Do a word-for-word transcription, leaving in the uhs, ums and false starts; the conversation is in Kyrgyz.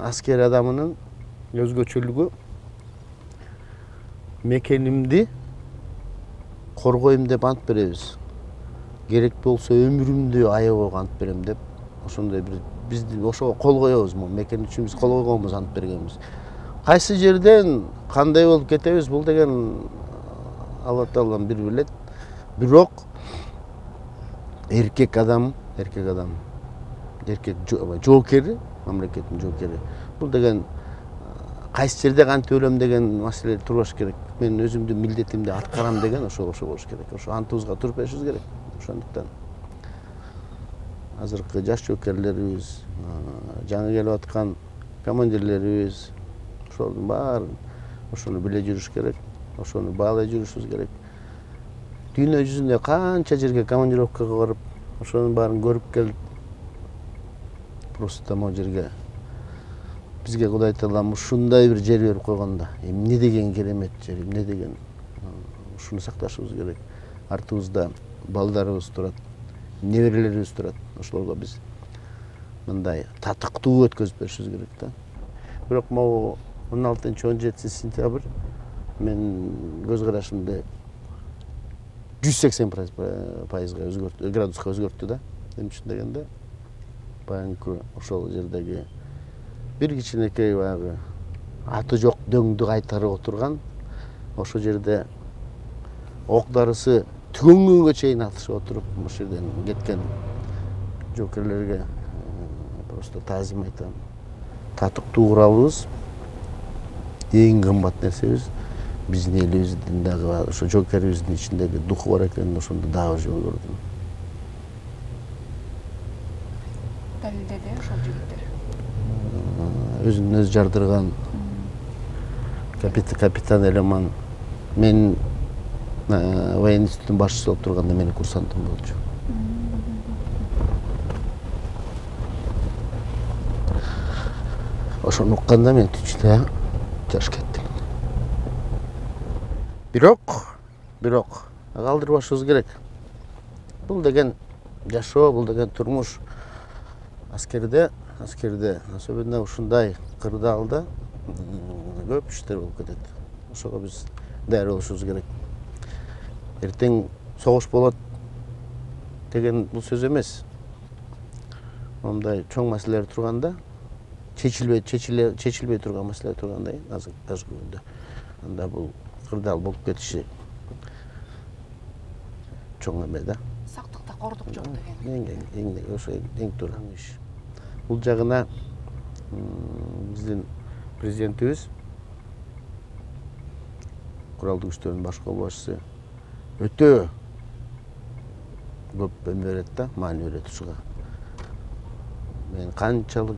аскер адамынын өзгөчөлүгү мекенимди коргойм деп ант беребиз. Керек болсо өмүрүмдү аябап ант берем деп ошондой бир бизди ошого кол коебуз. Мекен үчүн биз кол койгонбуз, ант бергенбиз. Кайсы жерден кандай болуп кетебиз, бул деген Алла Таалам бир билет. Бирок эркек адам, эркек адам, эркек жоокери, мамлекеттин жоокери. Бул деген кайсы жерде кантип өлөм деген маселе турбаш керек. Мен өзүмдүн милдетимди аткарам деген ошо ошо болуш керек. Ошо антыбызга туруп беришибиз керек. Ошондуктан азыркы жаш жоокерлерибиз, жаңы келип аткан командирлерибиз ошолордун баарын ошону биле жүрүш керек. Ошону баалай жүрүшүбүз керек. Дүйнө жүзүндө канча жерге командировкага барып, ошонун баарын көрүп келип, просто могу жерге бизге Кудай Таалам ушундай бир жер берип койгондо, эмне деген керемет жер, эмне деген, ушуну сакташыбыз керек. Артыбызда балдарыбыз турат, неберелерибиз турат. Ошолорго биз мындай татыктуу өткөзүп беришибиз керек да. Бирок могу он алтынчы он жетинчи сентябрь мен көз карашымды жүз сексен пайызга өзгөрттү, градуска өзгөрттү да. Эмне үчүн дегенде, баягы ошол жердеги бир кичинекей баягы аты жок дөңдү кайтарып отурган, ошол жерде ок дарысы түгөнгөнгө чейин атышып отуруп, ошол жерден кеткен жоокерлерге просто таазим айтам. Татыктуу куралыбыз эң кымбат нерсебиз. Биздин элибиздин дагы ошо жоокерибиздин ичиндеги духу бар экенин ошондо дагы жол көрдүм. Далилдеди ошол жигиттер. Өзүн өзү жардырган капитан Элеман мен военный институттун башчысы болуп турганда менин курсантым болчу. Ошону укканда мен түчтө жаш кетти. Бирок, бирок калтырбашыбыз керек. Бул деген жашоо, бул деген турмуш. Аскерде, аскерде, особенно ушундай кырдаалда көп иштер болуп кетет. Ошого биз даяр болушубуз керек. Эртең согуш болот деген бул сөз эмес. Мындай чоң маселелер турганда, чечилбей, чечиле, чечилбей турган маселелер тургандай, азыр азыр күндө. Анда бул кырдаал болуп кетиши чоң эме да. Сактыкта кордук жок деген. Эң эң ошо эң туура иш. Бул жагына биздин президентибиз, куралдуу күчтөрдүн баш колбашчысы өтө көп эме берет да, маани берет ушуга. Мен канчалык